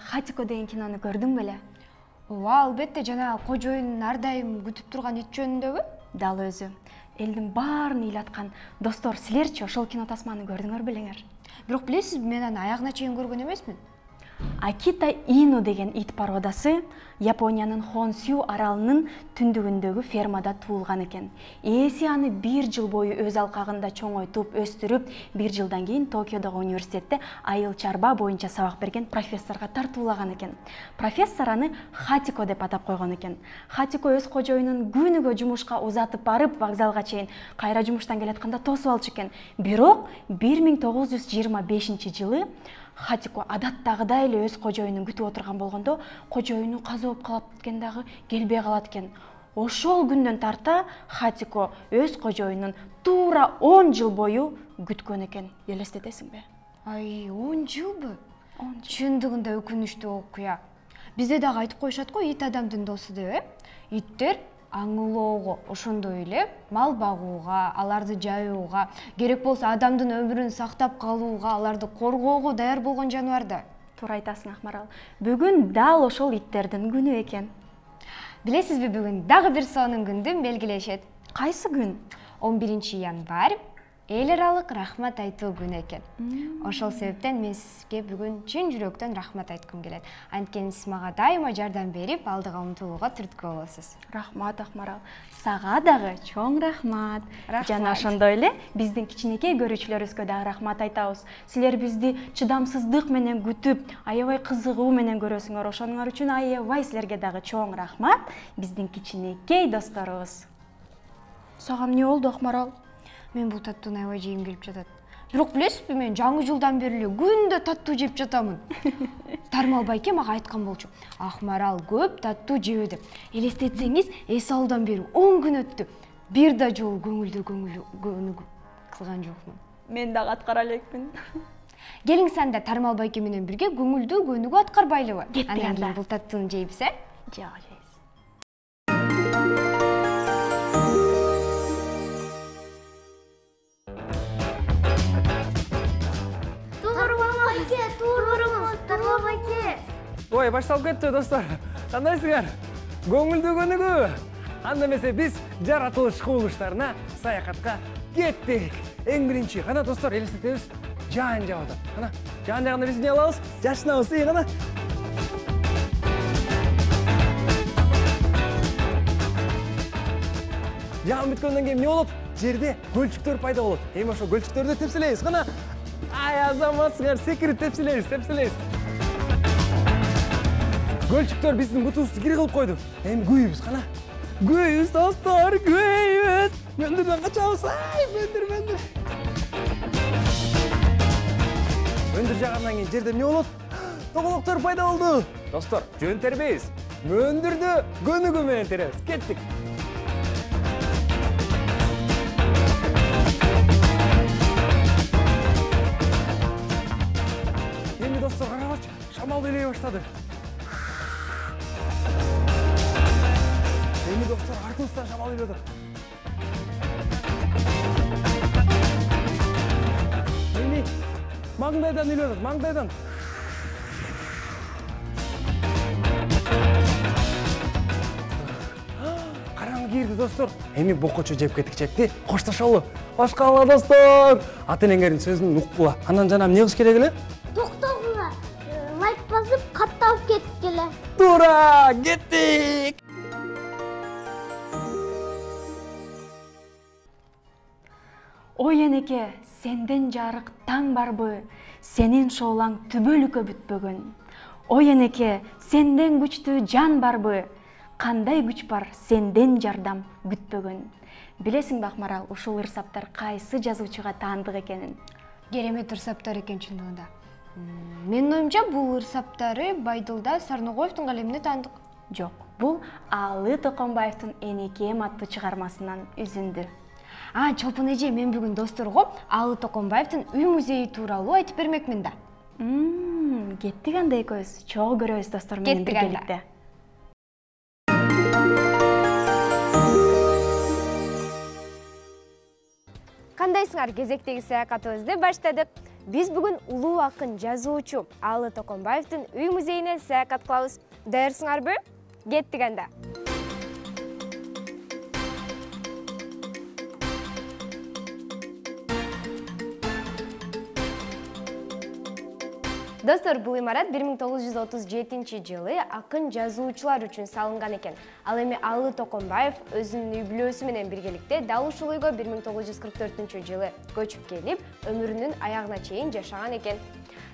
Хатико деген кинону көрдүң беле? Ооба, албетте, жана кожоюн ар дайым күтүп турган ит жөнүндөбү? Дал өзү. Элдин баарын ыйлаткан. Достор, силерчи ошол кино тасманы көрдүңөр белеңер? Бирок билесизби, мен аны аягына чейин көргөн эмесмин. Акита Ину деген ит породасы Япониянын Хонсю аралынын түндүгүндөгү фермада туулган экен. Ээси аны 1 жыл бою өз алкагында чоңойтуп, өстүрүп, 1 жылдан кийин Токиодогу университетте айыл чарба боюнча сабак берген профессорго тартуулаган экен. Профессор аны Хатико деп атап койгон экен. Хатико өз кожоюнун күнүгө жумушка узатып барып, вокзалга чейин кайра жумуштан келатканда тосуп алчу экен. Бирок 1925 жылы Хатико адаттагыдай эле өз кожоюнун күтүп отурган болгондо, кожоюну каза болуп калат экен дагы, келбей калат экен. Ошол күндөн тарта Хатико өз кожоюнун туура 10 жыл бою күткөн экен. Элестетесиңби? Ай, 10 жылбы? 10 жыл. Чындыгында өкүнүчтүү окуя. Бизде дагы айтып коюшат го, ит адамдын досу деп, Иттер аңылоого, ошондой эле мал багууга, аларды жайууга, керек болсо адамдын өмүрүн сактап калууга, аларды коргоого даяр болгон жаныбар да. Туура айтасың, Акмарал. Бүгүн дал ошол иттердин күнү экен. Билесизби, бүгүн дагы бир сонун күндү белгилешет. Кайсы күн? 11 январь эл аралык рахмат айтуу күнү экен. Ошол себептен мен сизге бүгүн чын жүрөктөн рахмат айткым келет. Анткени сиз мага дайыма жардам берип, алдыга умтулууга түрткү болосуз. Рахмат, Акмарал. Сага дагы чоң рахмат. Жана ошондой эле биздин кичинекей көрүүчүлөрүбүзгө дагы рахмат айтабыз. Силер бизди чыдамсыздык менен күтүп, аябай кызыгуу менен көрөсүңөр. Ошонуңар үчүн аябай силерге дагы чоң рахмат. Биздин кичинекей досторубуз. Сага эмне болду, Акмарал? Мен бул таттууну аябай жегим келип жатат. Бирок билесизби, мен жаңы жылдан бери эле күндө таттуу жеп жатамын. Тармал байке мага айткан болчу. Акмарал көп таттуу жебе деп. Элестетсеңиз, эс алуудан бери 10 күн өттү. Бир да жолу көңүлдүү кылган жокмун. Мен дагы аткара элекмин. Келиңиз анда Тармал байке менен бирге көңүлдүү көнүгүү аткарбайлыбы? Андан кийин бул таттууну жейбиз, э? Жок, жейбиз. Ой, башталып кетти, достор. Кандайсыңар? Көңүлдүү көнүгүү. Анда эмесе биз жаратылыш кубулуштарына саякатка кеттик. Эң биринчи, кана достор, элестетебиз, жаан жаап атат. Кана, жаан жагында биз эмне кылабыз? Жашынабыз, кана. Жаан бүткөндөн кийин эмне болот? Жерде көлчүктөр пайда болот. Эми ошо көлчүктөрдү тепселейбиз, кана. Ай, азаматсыңар, секирип тепселейбиз. Көлчүктөр биздин бутубузду кири кылып койду. Эми күйүбүз, кана. Күйүбүз, достор, күйүбүз. Мөндүрдөн качабыз. Ай, мөндүр. Мөндүр жагандан кийин жерде эмне болот? Тоголоктор пайда болду. Достор, жөн тербейбиз. Мөндүрдү көнүгүү менен теребиз. Кеттик. Эми достор, карагачы, шамал белей баштады. Эми достор, артыбыздан шамал келип атат. Эми маңдайдан келип атат, маңдайдан. Караңгы кирди, достор. Эми бокочо жеп кетти. Коштошолу. Башкала, достор. Ата-энеңердин сөзүн уккула. Анан жана эмне кылыш керек эле? Токтогула. Лайк басып, катталып кеткиле. Туура, кеттик. Ой энеке, сенден жарык таң барбы? Сенин шоолаң түбөлүккө бүтпөгөн. Ой энеке, сенден күчтүү жан барбы? Кандай күч бар, сенден жардам күтпөгөн. Билесиңби, Акмарал, ушул ырсаптар кайсы жазуучуга таандык экенин? Керемет ырсаптар экен чындыгында. Менин оюмча, бул ырсаптары Байдылда Сарногоевдун калемине таандык. Жок, бул Алы Токонбаевдин Энекем аттуу чыгармасынан үзүндү. Чолпон эже, мен бүгүн досторго Алы Токонбаевдин үй музейи тууралуу айтып бермекмин да. Кеттик анда экөөбүз. Чогуу көрөбүз достор менен биргеликте. Кандайсыңар? Кезектеги саякатыбызды баштадык. Биз бүгүн улуу акын жазуучу Алы Токонбаевдин үй музейине саякат кылабыз. Даярсыңарбы? Кеттик анда. Достор, бул имарат 1937-жылы акын жазуучулар үчүн салынган экен. Ал эми Алы Токонбаев өзүнүн үй бүлөсү менен биргеликте дал ушул үйгө 1944-жылы көчүп келип, өмүрүнүн аягына чейин жашаган экен.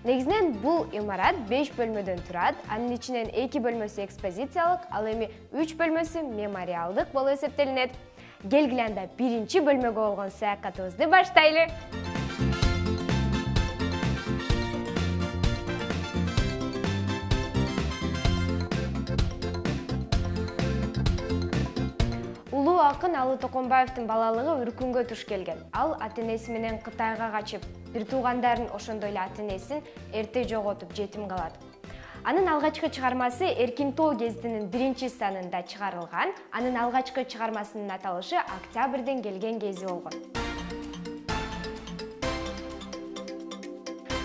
Негизинен бул имарат 5 бөлмөдөн турат. Анын ичинен 2 бөлмөсү экспозициялык, ал эми 3 бөлмөсү мемориалдык болуп эсептелинет. Келгиле анда биринчи бөлмөгө болгон саякатыбызды баштайлы. Улуу акын Алы Токонбаевдин балалыгы Үркүнгө туш келген. Ал ата-энеси менен Кытайга качып, бир туугандарын ошондой эле ата-энесин эрте жоготуп, жетим калат. Анын алгачкы чыгармасы Эркин тоо гезитинин 1-санында чыгарылган. Анын алгачкы чыгармасынын аталышы Октябрден келген кези болгон.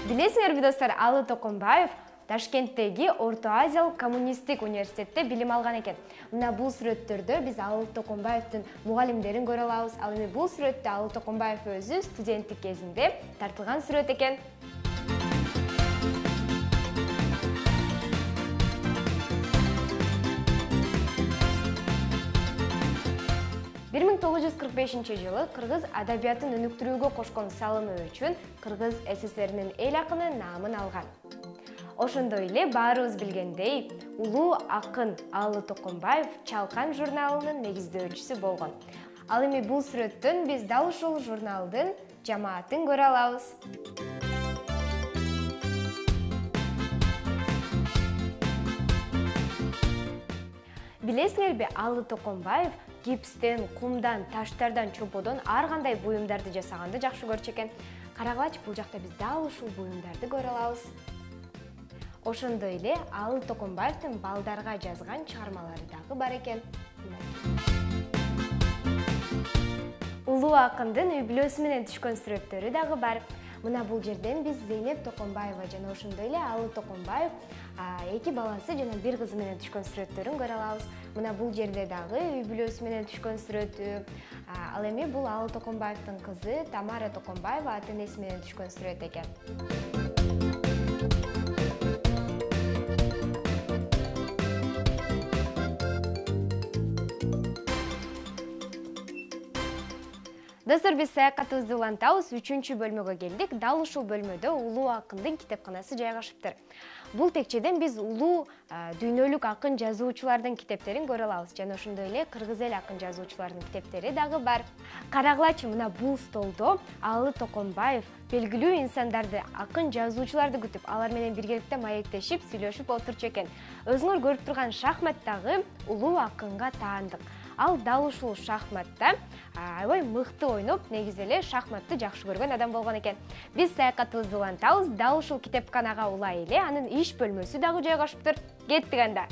Билесиңерби достор, Алы Токонбаев Ташкенттеги Орто Азиялык коммунисттик университетте билим алган экен. Мына бул сүрөттөрдө биз Алы Токонбаевдин мугалимдерин көрө алабыз. Ал эми бул сүрөттө Алы Токонбаев өзү студенттик кезинде тартылган сүрөт экен. Бир 1945-жылы кыргыз адабиятын өнүктүрүүгө кошкон салымы үчүн Кыргыз СССРнин эл акыны наамын алган. Ошондой эле баарыбыз билгендей, улуу акын Алы Токонбаев Чалкан журналынын негиздөөчүсү болгон. Ал эми бул сүрөттөн биз дал ушул журналдын жамаатын көрө алабыз. Билесиңерби, Алы Токонбаев гипстен, кумдан, таштардан, чоподон ар кандай буюмдарды жасаганды жакшы көрчү экен. Карагылачы, бул жакта биз дал ушул буюмдарды көрө алабыз. Ошондой эле Алы Токонбаевдин балдарга жазган чыгармалары дагы бар экен. Улуу акындын үй бүлөсү менен түшкөн сүрөттөрү дагы бар. Мына бул жерден биз Зейнеп Токонбаева жана ошондой эле Алы Токонбаев 2 баласы жана 1 кызы менен түшкөн сүрөттөрүн көрө алабыз. Мына бул жерде дагы үй бүлөсү менен түшкөн сүрөтү. Ал эми бул Алы Токонбаевдин кызы Тамара Токонбаева ата-энеси менен түшкөн сүрөт экен. Достор, биз саякатыбызды улантабыз, 3-чү бөлмөгө келдик. Дал ушул бөлмөдө улуу акындын китепканасы жайгашыптыр. Бул текчеден биз улуу дүйнөлүк акын жазуучулардын китептерин көрө алабыз. Жана ошондой эле кыргыз эл акын жазуучулардын китептери дагы бар. Карагылачы, мына бул столдо Алы Токонбаев белгилүү инсандарды, акын жазуучуларды күтүп, алар менен биргеликте маектешип, сүйлөшүп отурчу экен. Өзүңөр көрүп турган шахмат дагы улуу акынга таандык. Ал дал ушул шахматта аябай мыкты ойноп, негизи эле шахматты жакшы көргөн адам болгон экен. Биз саякатыбызды улантабыз, дал ушул китепканага улай эле анын иш бөлмөсү дагы жайгашыптыр. Кеттик анда.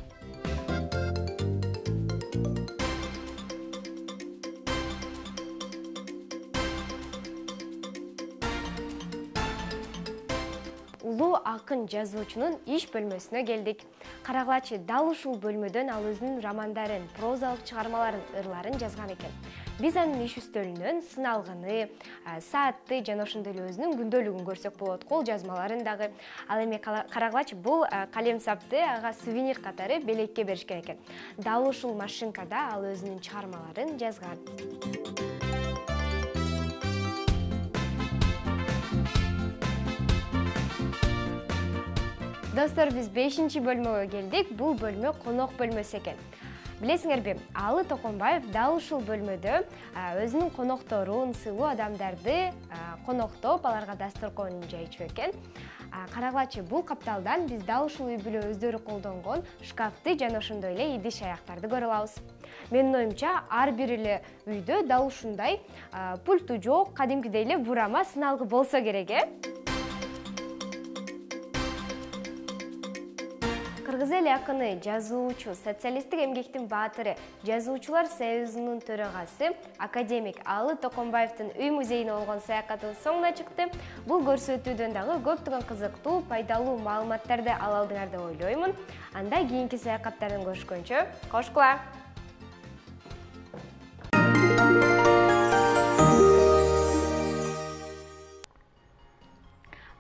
Улуу акын жазуучунун иш бөлмөсүнө келдик. Карагылачы, дал ушул бөлмөдөн ал өзүнүн романдарын, прозалык чыгармаларын, ырларын жазган экен. Биз анын иш үстөлүнөн сыналгыны, саатты жана ошондой эле өзүнүн күндөлүгүн көрсөк болот, кол жазмаларын дагы. Ал эми карагылачы, бул калем сапты ага сувенир катары белекке беришкен экен. Дал ушул машинкада ал өзүнүн чыгармаларын жазган. Достор, биз 5-чи бөлмөгө келдик. Бул бөлмө конок бөлмөсү экен. Билесиңерби, Алы Токонбаев дал ушул бөлмөдө өзүнүн конокторун, сыйлуу адамдарды коноктоп, аларга дасторкон жайчу экен. Карагылачы, бул капталдан биз дал ушул үй бүлө өздөрү колдонгон шкафты жана ошондой эле идиш аяктарды көрө алабыз. Менин оюмча, ар бир эле үйдө дал ушундай пульту жок, кадимкидей эле бурама сыналгы болсо керек, Кыз эл акыны, жазуучу, социалисттик эмгектин баатыры, жазуучулар союзунун төрагасы академик Алы Токомбаевдин үй музейине болгон саякатыбыз соңуна чыкты. Бул көрсөтүүдөн дагы көптөгөн кызыктуу, пайдалуу маалыматтарды ала алдыңар деп ойлоймун. Анда кийинки саякаттардан көрүшкөнчө, кошкула!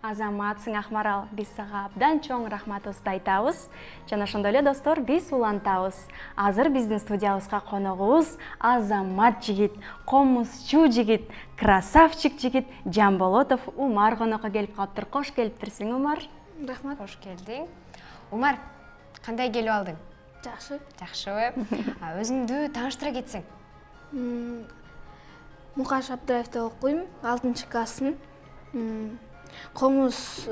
Азаматсың Акмарал, биз сага абдан чоң рахматыбызды айтабыз. Жана ошондой эле достор, биз улантабыз. Азыр биздин студиябызга коногубуз азамат жигит, комузчу жигит, красавчик жигит Жамболотов Умар конокко келип калыптыр. Кош келиптирсиң, Умар. Рахмат. Кош келдиң. Умар, кандай келип алдың? Жакшы. Жакшыбы? Өзүңдү тааныштыра кетсең. Мукаш Абдраевде окуйм, 6 классын. Комузду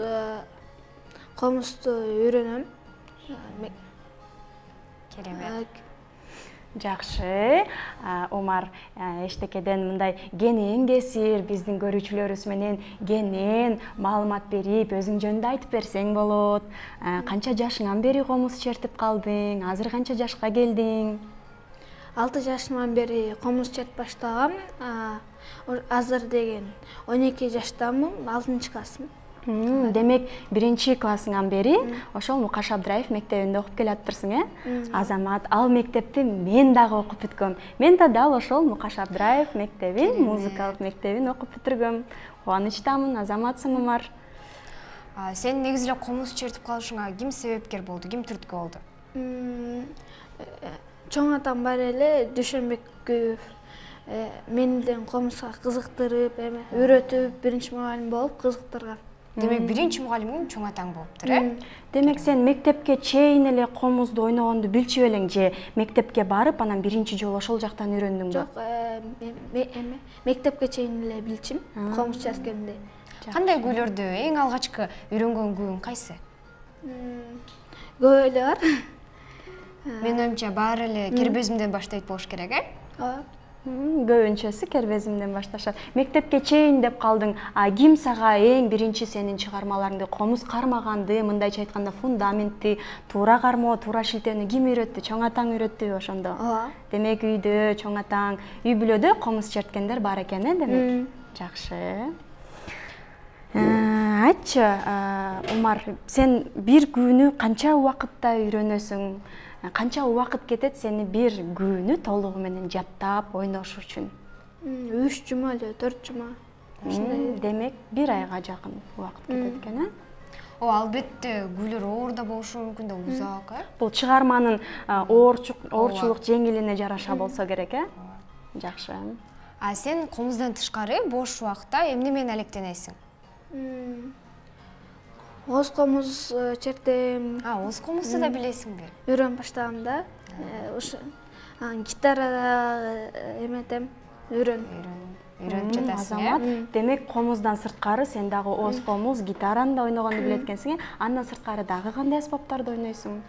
үйрөнөм. Керемет. Жакшы. Умар эчтекеден мындай кенен кесир биздин көрүүчүлөрүбүз менен кенен маалымат берип, өзүң жөнүндө айтып берсең болот. Канча жашыңан бери комуз чертип калдың? Азыр канча жашка келдиң? 6 жашыман бери комуз чертип баштагам. Азыр деген 12 жаштамын, 6 классмын. Демек, 1 классыңан бери ошол Мукаш Абдраев мектебинде окуп келатырсың, Азамат, ал мектепти мен дагы окуп бүткөм. Мен да дал ошол Мукаш Абдраев мектебин, музыкалык мектебин окуп бүтүргөм. Кубанычтамын, Азаматсың, Умар. Сен негизи эле комуз чертип калышыңа ким себепкер болду, ким түрткү болду? Чоң атам бар эле, Дүйшөнбеков. Менден комузга кызыктырып, үйрөтүп, биринчи мугалим болуп кызыктырган. Демек, биринчи мугалимиң чоң атаң болуптур, Демек, сен мектепке чейин эле комузду ойногонду билчү элең же мектепке барып, анан биринчи жолу ошол жактан үйрөндүңбү? Жок, мектепке чейин эле билчим, комуз черткенди. Кандай күүлөрдү эң алгачкы үйрөнгөн күүң кайсы? Көп эле бар. Менин оюмча баары эле кербезимден баштайт болуш керек, Көбүнчөсү кербезимден башташат. Мектепке чейин деп калдың. Ким сага эң биринчи сенин чыгармаларыңды, комуз кармаганды, мындайча айтканда фундаментти, туура кармоо, туура шилтөөнү ким үйрөттү? Чоң атаң үйрөттүбү ошондо? Демек, үйдө, чоң атаң, үй бүлөдө комуз черткендер бар экен, демек? Жакшы. Айтчы, Умар, сен бир күнү канча убакытта үйрөнөсүң? Канча убакыт кетет сени бир күнү толугу менен жаттап, ойнош үчүн? 3 жума эле, 4 жума. Демек, 1 айга жакын убакыт кетет экен, Албетте, күйлөр оор да болушу мүмкүн да, узак, Бул чыгарманын оорчулук жеңилине жараша болсо керек, Жакшы. Сен комуздан тышкары бош убакта эмне менен алектенесиң? Оз комуз чертем. Оз комузду да билесиңби? Үйрөнүп баштагам да. Гитарада эметем, Үйрөнүп жатасың, Азамат, демек комуздан сырткары сен дагы оз комуз, гитараны да ойногонду билет экенсиң, андан сырткары дагы кандай аспаптарды ойнойсуң?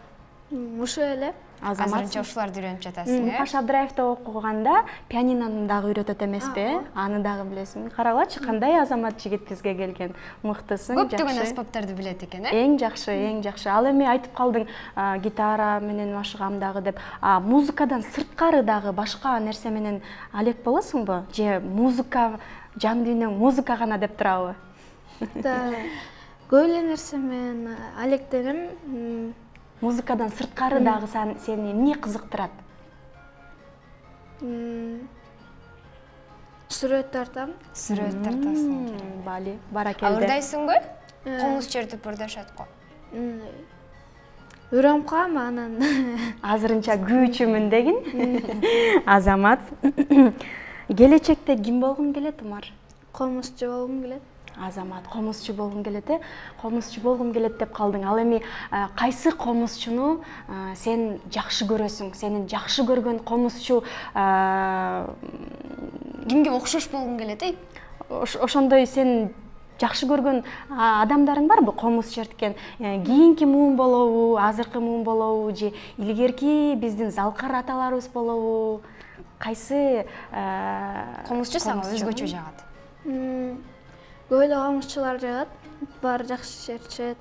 Ушу эле. Азырынча ушуларды үйрөнүп жатасың, Мукаш Абдраевде окуганда пианинону дагы үйрөтөт эмеспи? Аны дагы билесиң. Карагылачы, кандай Азамат жигит бизге келген. Мыктысың, жакшы. Көптөгөн аспаптарды билет экен, Эң жакшы, эң жакшы. Ал эми айтып калдың, гитара менен машыгам дагы деп. Музыкадан сырткары дагы башка нерсе менен алек болосуңбу? Же музыка, жан дүйнөң музыка гана деп турабы? Көп эле нерсе менен алектенем. Музыкадан сырткары дагы сени эмне кызыктырат? Сүрөт тартам. Сүрөт тартасың. Бали, баракелде. Ырдайсыңбы? Комуз чертип ырдашат го. Үйрөнүп калам анан. Азырынча күүчүмүн дегин. Азамат. Келечекте ким болгуң келет, Умар? Комузчу болгум келет. Азамат, комузчу болгуң келет, комузчу болгум келет деп калдың. Ал эми кайсы комузчуну сен жакшы көрөсүң? Сенин жакшы көргөн комузчу кимге окшош болгуң келет, Ошондой сен жакшы көргөн адамдарың барбы? Комуз черткен. Кийинки муун болобу, азыркы муун болобу, же илгерки биздин залкар аталарыбыз болобу? Кайсы комузчу сага өзгөчө жагат? Көп эле комузчулар жагат, баары жакшы чертишет.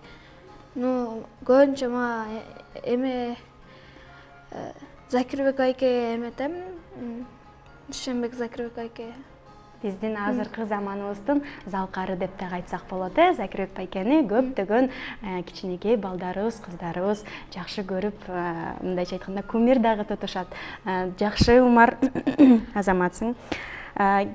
Көбүнчө мага эме Закирбек айке эметем. Дүйшөнбек Закирбек айке. Биздин азыркы заманыбыздын залкары деп да айтсак болот. Закирбек байкени көптөгөн кичинекей балдарыбыз, кыздарыбыз жакшы көрүп, мындайча айтканда кумир дагы тутушат. Жакшы, Умар, азаматсың.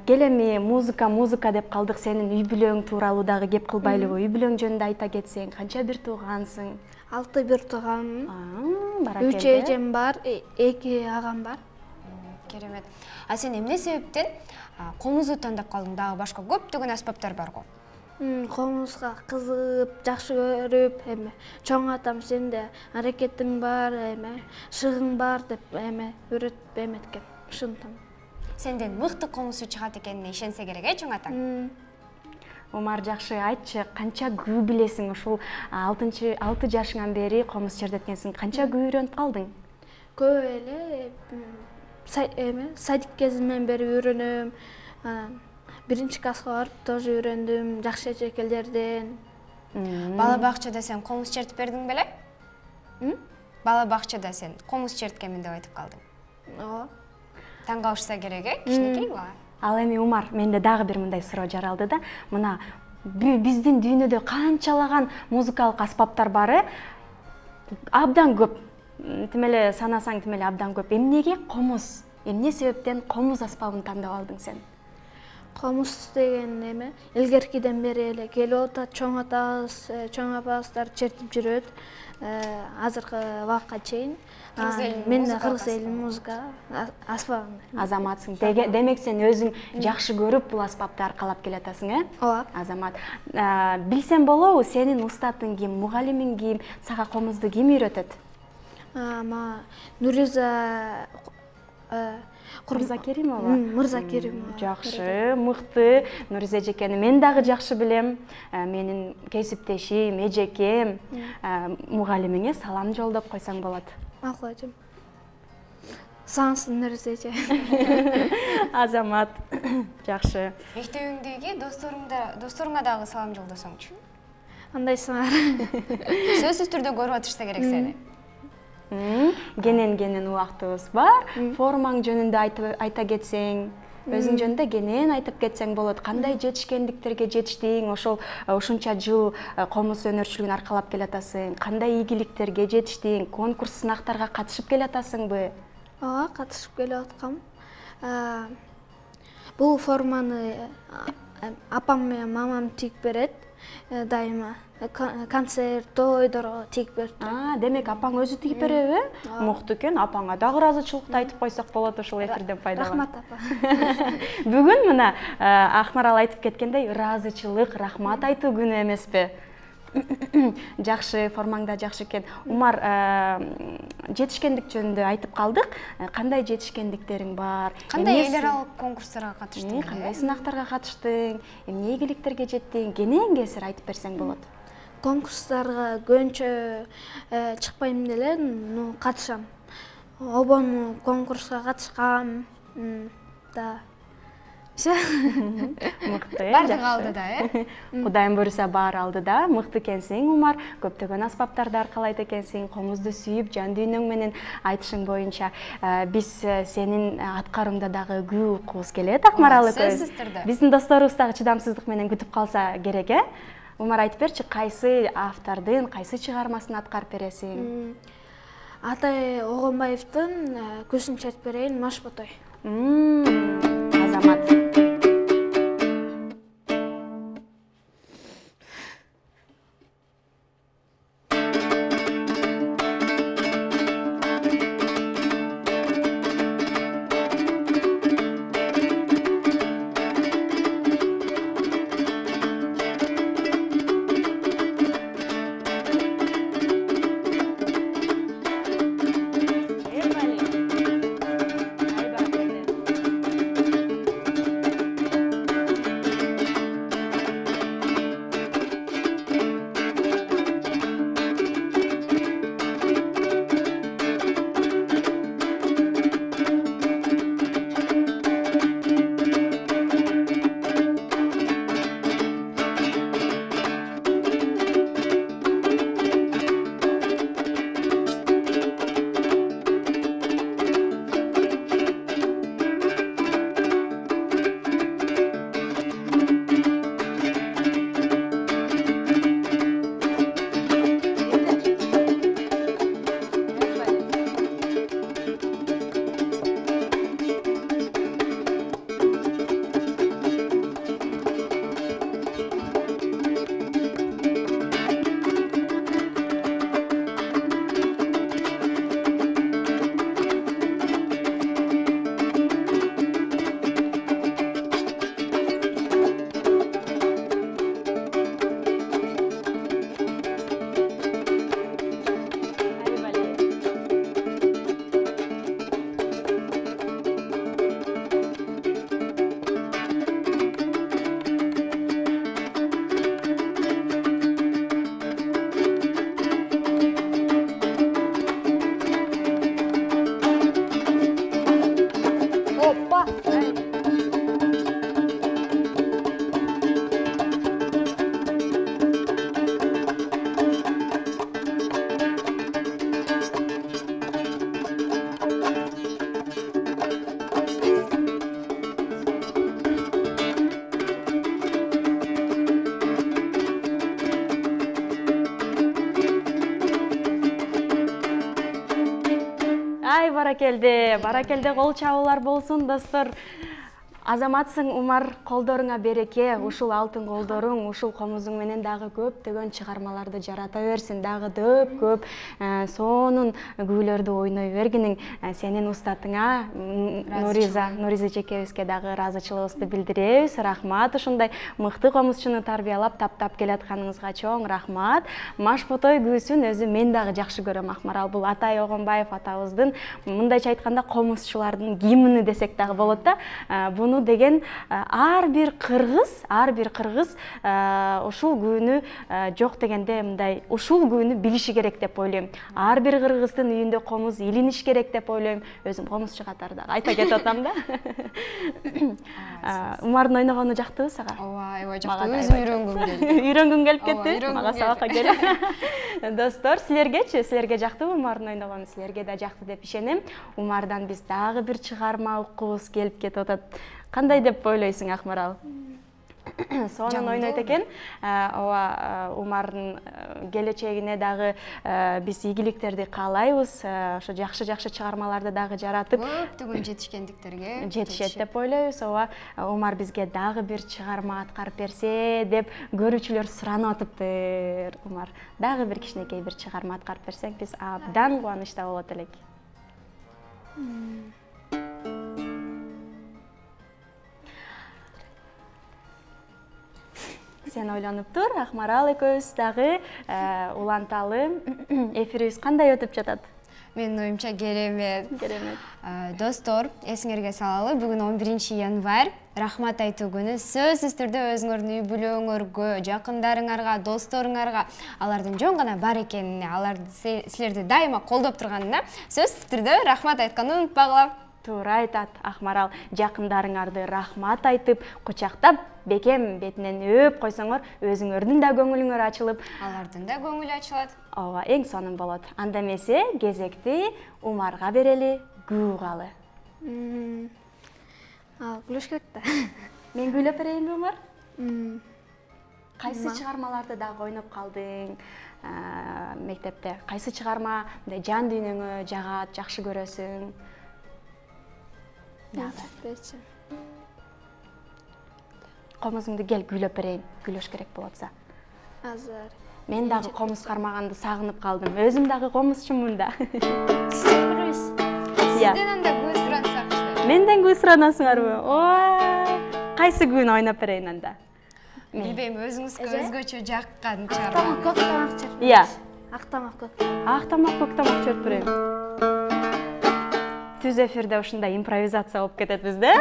Кел эми музыка деп калдык. Сенин үй бүлөң тууралуу дагы кеп кылбайлыбы? Үй бүлөң жөнүндө айта кетсең, канча бир туугансың? 6 бир тууганмын. Баракелде. 3 эжем бар, 2 агам бар. Керемет. А сен эмне себептен комузду тандап калдың? Дагы башка көптөгөн аспаптар бар го. Комузга кызыгып, жакшы көрүп, чоң атам сенде аракетиң бар, шыгың бар деп үйрөтүп эметкен. Ушунтам. Сенден мыкты комузчу чыгат экенине ишенсе керек, чоң атаң. Умар, жакшы айтчы, канча күү билесиң? Ушул 6 жашыңан бери комуз чертеткенсиң. Канча күү үйрөнүп калдың? Көп эле садик кезимден бери үйрөнөм. 1-класска барып тоже үйрөндүм, жакшы эжекелерден. Бала бакчада сен комуз чертип бердиң беле? Бала бакчада сен комуз черткенмин деп айтып калдың. Ооба. Таң калышса керек, кичинекей бала. Ал эми Умар, менде дагы бир мындай суроо жаралды да. Мына биздин дүйнөдө канчалаган музыкалык аспаптар бар, абдан көп. Тим эле санасаң, тим эле абдан көп. Эмнеге комуз? Эмне себептен комуз аспабын тандап алдың сен? Комуз деген илгеркиден бери эле келип атат. Чоң атабыз, чоң апабыздар чертип жүрөт. Азыркы убакка чейин. Мен кыргыз элинин музыка аспабын. Азаматсың. Демек сен өзүң жакшы көрүп бул аспапты аркалап келатасың, Ооба. Азамат. Билсем болобу, сенин устатың ким, мугалимиң ким, сага комузду ким үйрөтөт? Нуриза Мырзакеримова. Мырзакеримова. Жакшы, мыкты. Нуриза эжекени мен дагы жакшы билем. Менин кесиптешим, эжекем, мугалимиңе салам жолдоп койсоң болот. Макул эжем. Саңсын Нуриза эже. Азамат, жакшы. Мектебиңдеги досторуңа дагы салам жолдосоңчу. Андайсыңар. Сөзсүз түрдө көрүп атышса керек сени. Кенен убактыбыз бар. Формаң жөнүндө айта кетсең, өзүң жөнүндө кенен айтып кетсең болот. Кандай жетишкендиктерге жетиштиң? Ушунча жыл комуз өнөрчүлүгүн аркалап келатасың. Кандай ийгиликтерге жетиштиң? Конкурс, сынактарга катышып келатасыңбы? Ооба, катышып келип аткам. Бул форманы апам менен мамам тигип берет. Дайыма концерт, тойдорго тигип берет. Демек апаң өзү тигип береби? Мыкты экен. Апаңа дагы ыраазычылыкты айтып койсок болот ушул эфирден пайдаланып. Рахмат апа. Бүгүн мына Акмарал айтып кеткендей, ыраазычылык, рахмат айтуу күнү эмеспи? Жакшы, формаңда жакшы экен. Умар, жетишкендик жөнүндө айтып калдык. Кандай жетишкендиктериң бар? Кандай эл аралык конкурстарга катыштың? Кандай сынактарга катыштың? Эмне ийгиликтерге жеттиң? Кенен кесир айтып берсең болот. Конкурстарга көбүнчө чыкпайм деле, катышам. Обону конкурска катышкам. Мыкты. Бардыгы алдыда, Кудайым буйруса баары алдыда. Мыкты экенсиң, Умар. Көптөгөн аспаптарды аркалайт экенсиң. Комузду сүйүп, жан дүйнөң менен айтышың боюнча биз сенин аткарууңда дагы күү уккубуз келет, Акмарал экөөбүз. Сөзсүз түрдө. Биздин досторубуз дагы чыдамсыздык менен күтүп калса керек, Умар, айтып берчи, кайсы автордун, кайсы чыгармасын аткарып бересиң? Атай Огонбаевдин Көзүн чертип берейин, Маш Ботой. Азамат. баракелде кол чабуулар болсун достор. Азаматсың Умар, колдоруңа береке, ушул алтын колдоруң, ушул комузуң менен дагы көптөгөн чыгармаларды жарата берсин, дагы көп сонун күүлөрдү ойной бергиниң сенин устатыңа Нуриза жекебизге дагы ыраазычылыгыбызды билдиребиз. Рахмат, ушундай мыкты комузчуну тарбиялап таптап келатканыңызга чоң рахмат. Машботой күүсүн өзү мен дагы жакшы көрөм, Акмарал. Бул Атай Огонбаев атабыздын, мындайча айтканда, комузчулардын гимни десек дагы болот да. Буну деген ар бир кыргыз ушул күнү жок дегенде мындай ушул күнү билиши керек деп ойлойм. Ар бир кыргыздын үйүндө комуз илиниш керек деп ойлойм. Өзүм комузчу катары дагы айта кетип атам да. Умардын ойногону жактыбы сага? Ооба, жактуу. Өзүм үйрөнгүм келди. Үйрөнгүң келип кетти? Мага сабакка кел. Достор, силергечи? Силерге жактыбы Умардын ойногону? Силерге да жакты деп ишенем. Умардан биз дагы бир чыгарма уккубуз келип кетип атат. Кандай деп ойлойсуң, Акмарал? Сонун ойнойт экен. Ооба, Умардын келечегине дагы биз ийгиликтерди каалайбыз. Ошо жакшы чыгармаларды дагы жаратып, көптөгөн жетишкендиктерге жетишет деп ойлойбуз. Ооба, Умар бизге дагы бир чыгарма аткарып берсе деп көрүүчүлөр суранып атыптыр. Умар, дагы бир кичинекей бир чыгарма аткарып берсең, биз абдан кубанычта болот элек. Сен ойлонуп тур, Акмарал экөөбүз дагы уланталы. Эфирибиз кандай өтүп жатат? Менин оюмча керемет. Достор, эсиңерге салалы, бүгүн 11 январь, рахмат айтуу күнү. Сөзсүз түрдө өзүңөрдүн үй бүлөңөргө, жакындарыңарга, досторуңарга алардын жөн гана бар экенине, алар силерди дайыма колдоп турганына сөзсүз түрдө рахмат айтканды унутпагыла. Туура айтат, Акмарал. Жакындарыңарды рахмат айтып, кучактап, бекем бетинен өп койсоңор, өзүңөрдүн да көңүлүңөр ачылып, алардын да көңүлү ачылат. Ооба, эң сонун болот. Анда эмесе, кезекти Умарга берели, күүгалы. Күлүш керек да. Мен күйлөп берейинби, Умар? Кайсы чыгармаларды дагы ойноп калдың мектепте? Кайсы чыгарма жан дүйнөңө жагат, жакшы көрөсүң? Комузуңду кел күйлөп берейин, күйлөш керек болотса. Азыр. Мен дагы комуз кармаганды сагынып калдым. Өзүм дагы комузчумун да. Сизден анда күү сурансакчы. Менден күү суранасыңарбы? Кайсы күүнү ойноп берейин анда? Билбейм, өзүңүзгө өзгөчө жаккан чыгарма. Көк тамак чырт. Ия. Актамак көк. Актамак көк тамак чырт берейин. Түз эфирде ушундай импровизация болуп кететбиз да.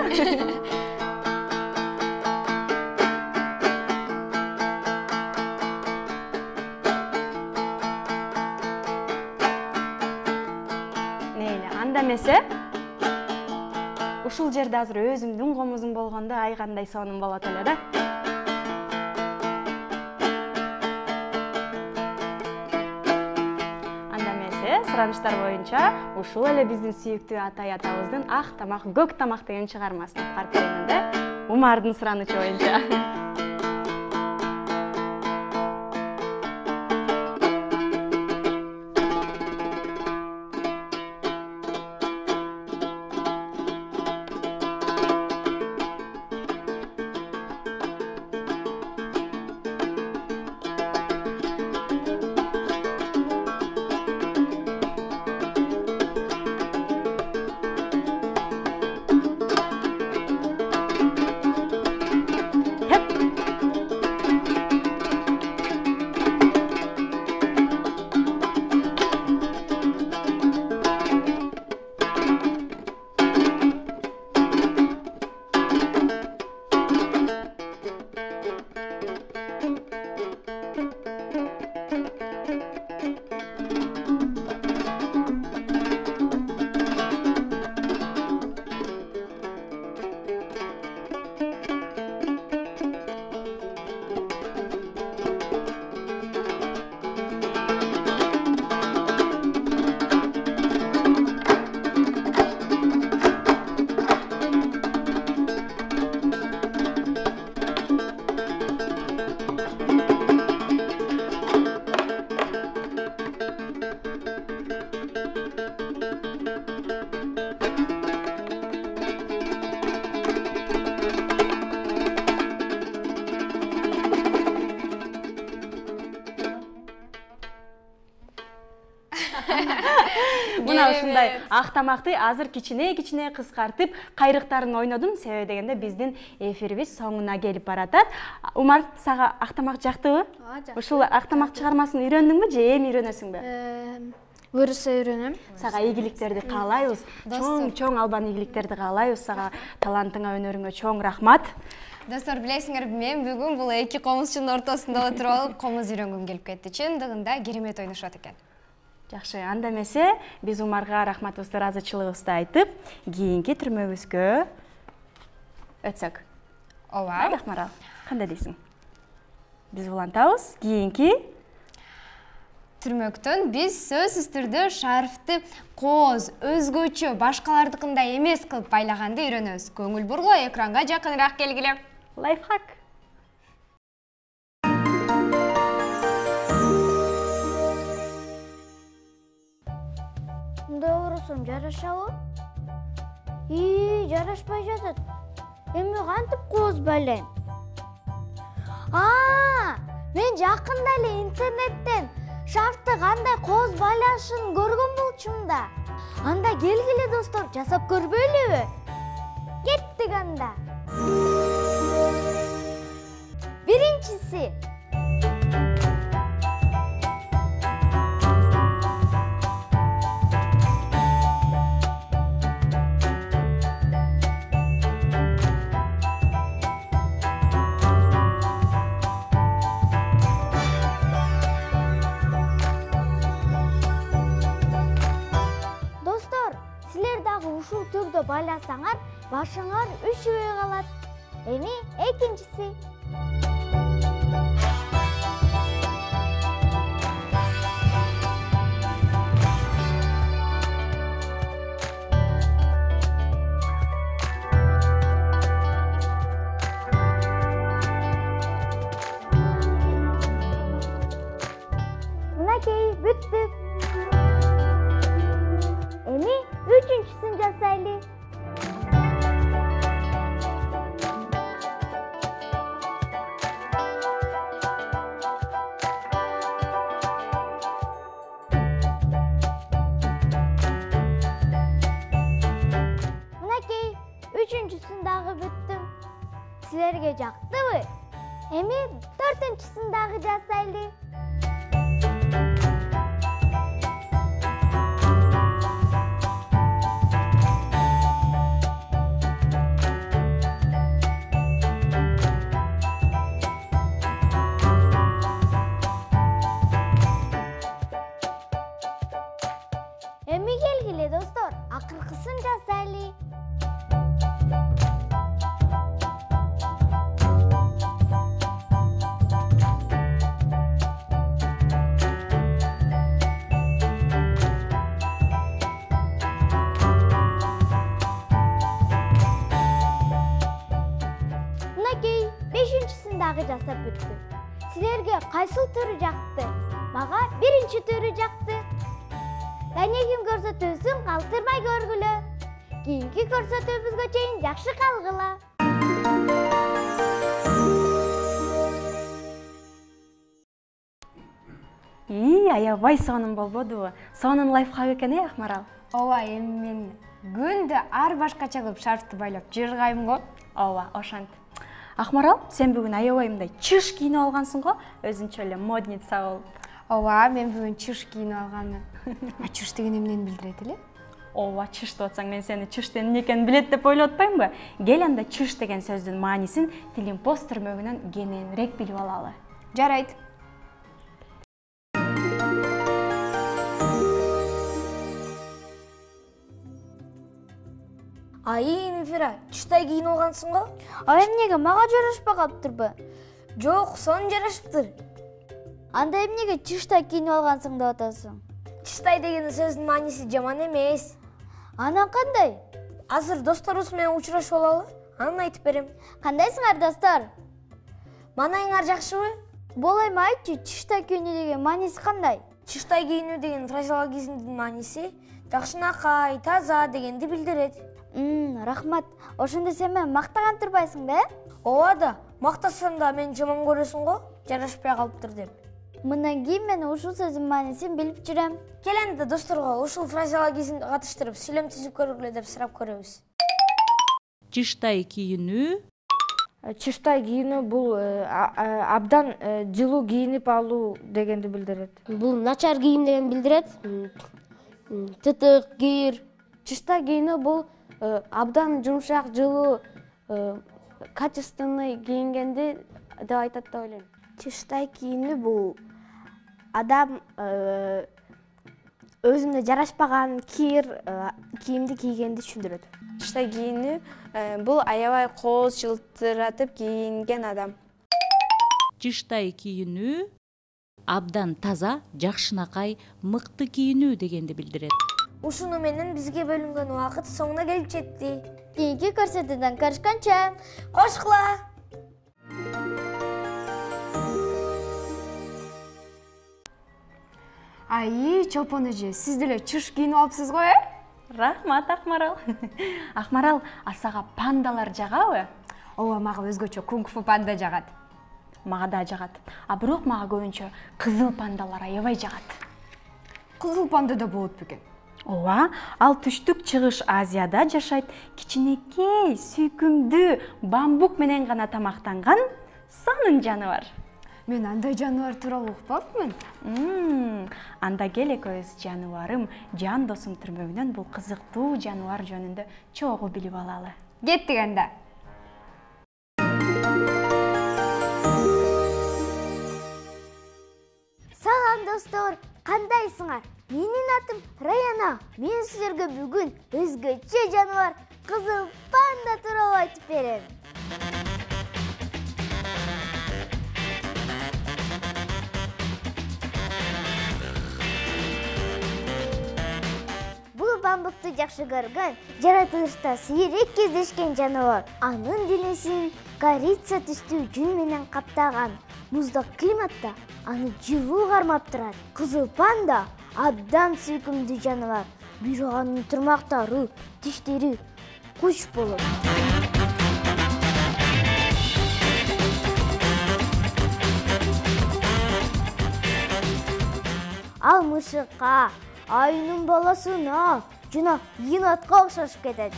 Анда эмесе, ушул жерде азыр өзүмдүн комузум болгондо ай кандай сонун болот эле да. Суранычтар боюнча ушул эле биздин сүйүктүү Атай атабыздын ак тамак, көк тамак деген чыгармасын аткарып берейин да. Умардын суранычы боюнча. мына ушундай ак тамакты азыр кичине кыскартып кайрыктарын ойнодум, себеби дегенде биздин эфирибиз соңуна келип баратат. Умар, сага ак тамак жактыбы? Ушул ак тамак чыгармасын үйрөндүңбү же эми үйрөнөсүңбү? Буюрса үйрөнөм. Сага ийгиликтерди каалайбыз. Чоң албан ийгиликтерди каалайбыз. Сага талантыңа, өнөрүңө чоң рахмат. Достор, билесиңерби, мен бүгүн бул эки комузчунун ортосунда отуруп алып комуз үйрөнгүм келип кетти. Чындыгында керемет ойношот экен. Жакшы, анда эмесе биз Умарга рахматыбызды, ыраазычылыгыбызды айтып, кийинки түрмөбүзгө өтсөк. Ооба. Акмарал, кандай дейсиң? Биз улантабыз. Кийинки түрмөктөн биз сөзсүз түрдө шарфты кооз, өзгөчө, башкалардыкындай эмес кылып байлаганды үйрөнөбүз. Көңүл бургула, экранга жакыныраак келгиле. Лайфхак. Мындай оросом жарашабы? Жарашпай жатат. Эми кантип кооз байлайм? Мен жакында эле интернеттен шарфты кандай кооз байлашын көргөн болчумун да. Анда келгиле достор, жасап көрбөйлүбү? Кеттик анда. Биринчиси. Ушул түрдө байласаңар, башыңар үшүбөй калат. Эми экинчиси. Мынакей, бүттү. Эми үчүнчүсүн жасайлы. Мынакей, үчүнчүсүн дагы бүттүм. Силерге жактыбы? Эми төртүнчүсүн дагы жасайлы. Эми келгиле достор, акыркысын жасайлы. Мынакей, бешинчисин дагы жасап бүттүм. Силерге кайсыл түрү жакты? Мага биринчи түрү жакты. Кайнеким көрсөтүүсүн калтырмай көргүлө. Кийинки көрсөтүүбүзгө чейин жакшы калгыла. Аябай сонун болбодубу? Сонун лайфхак экен, Акмарал. Ооба, эми мен күндө ар башкача кылып шарфты байлап жыргайм го. Ооба, ошентип. Акмарал, сен бүгүн аябай мындай чыш кийинип алгансың го, өзүнчө эле модница болуп. Ооба, мен бүгүн чыш кийинип алганмын. Чыш деген эмнени билдирет эле? Ооба, чыш деп атсаң, мен сени чыштын эмне экенин билет деп ойлоп атпаймынбы? Кел анда чыш деген сөздүн маанисин Тилимпост түрмөгүнөн кененирээк билип алалы. Жарайт. Мифира, чыштай кийинип алгансың го? Эмнеге мага жарашпай калыптырбы? Жок, сонун жарашыптыр. Анда эмнеге чыштай кийинип алгансың деп атасың? Чыштай деген сөздүн мааниси жаман эмес. Анан кандай? Азыр досторубуз менен учурашып алалы, анан айтып берем. Кандайсыңар, достор? Маанайыңар жакшыбы? Болайм, айтчы, чыштай кийинүү деген мааниси кандай? Чыштай кийинүү деген фразеологизмдин мааниси жакшынакай, таза дегенди билдирет. Рахмат. Ошондо сен мени мактаган турбайсың да? Ооба да, мактасам да мени жаман көрөсүң го, жарашпай калыптыр деп. Мындан кийин мен ушул сөздүн маанисин билип жүрөм. Келенде досторго ушул фразеологизмди катыштырып сүйлөм түзүп көргүлө деп сурап көрөбүз. Чыштай кийинүү. Чыштай кийинүү бул абдан жылуу кийинип алуу дегенди билдирет. Бул начар кийим деген билдирет. Тытык, кир. Чыштай кийинүү бул абдан жумшак, жылуу, качественный кийингенди деп айтат деп ойлойм. Чыштай кийинүү бул адам өзүнө жарашпаган кийимди кийгенди түшүндүрөт. Чыштай кийинүү бул аябай кооз жылтыратып кийинген адам. Чыштай кийинүү абдан таза, жакшынакай, мыкты кийинүү дегенди билдирет. Ушуну менен бизге бөлүнгөн убакыт соңуна келип жетти. Кийинки көрсөтүүдөн көрүшкөнчө кошкула. Чолпон эже, сиз деле чыш кийинип алыпсыз го, Рахмат, Акмарал. Акмарал, сага пандалар жагабы? Ооба, мага өзгөчө кунг-фу панда жагат. Мага да жагат. Бирок мага көбүнчө кызыл пандалар аябай жагат. Кызыл панда да болот бекен? Ооба, ал түштүк чыгыш Азияда жашайт. Кичинекей, сүйкүмдүү, бамбук менен гана тамактанган сонун жаныбар. Мен андай жаныбар тууралуу укпапмын. Анда кел экөөбүз жаныбарым, жан досум түрмөгүнөн бул кызыктуу жаныбар жөнүндө чогуу билип алалы. Кеттик анда. Салам достор, кандайсыңар? Менин атым Раяна. Мен силерге бүгүн өзгөчө жаныбар кызыл панда тууралуу айтып берем. Бул бамбукту жакшы көргөн, жаратылышта сейрек кездешкен жаныбар. Анын денесин корица түстүү жүн менен каптаган. Муздак климатта аны жылуу кармап турат. Кызыл панда абдан сүйкүмдүү жаныбар. Бирок анын тырмактары, тиштери куч болот. Ал мышыкка, айнын баласына жана енотко окшошуп кетет.